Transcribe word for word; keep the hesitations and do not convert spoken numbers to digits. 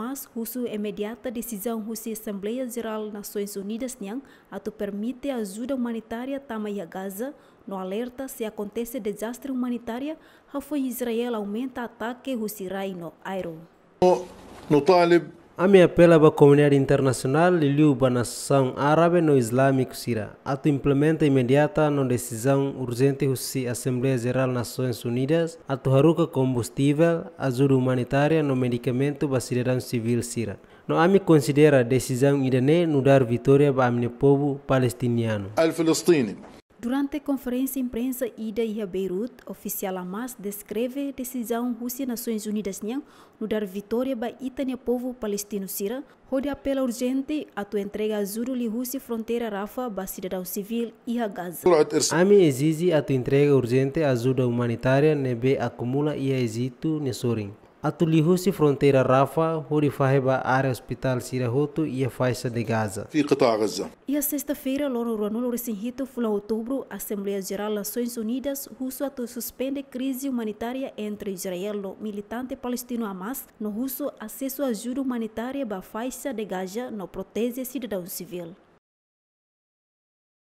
Hamas husu imediata desizaun husi Asembleia Jerál Nasoins Unidas nian atu permite ajuda umanitária tama iha Gaza, no alerta se akontese dezastre umanitária, hafoin Israel aumenta atake husi rai no aéreu. نطالب Ami apela ba komunidade internasionál, liuliu ba nasaun árabe no islamiku sira, atu implementa imediata no desizaun urjente husi Asembleia Jerál Nasoins Unidas atu haruka kombustivel, ajuda umanitária no medikamentu ba sidadaun sivíl sira. No ami konsidera desizaun ida-ne'e nu'udar vitória ba ami-nia povu palestinianu. Durante konferénsia imprensa ida iha Beirut, ofisiál Hamas deskreve desizaun husi Nasoins Unidas nian nu'udar vitória ba ita-nia povu palestinu sira, hodi apela urjente atu entrega ajuda liuhusi fronteira Rafah ba sidadaun sivíl iha Gaza. Ami ezije atu entrega urjente ajuda umanitária ne'ebé akumula iha Ejitu nia sorin, atu liuhusi fronteira Rafah hodi fahe ba área ospitál sira hotu iha faixa de Gaza. Iha sesta-feira, loron ruanulu resin hitu fulan Outubru, Asembleia Jerál Nasoins Unidas husu atu suspende krize umanitária entre Israel no militante palestinu Hamas, no husu asesu ajuda umanitária ba faixa de Gaza no proteje sidadaun sivíl.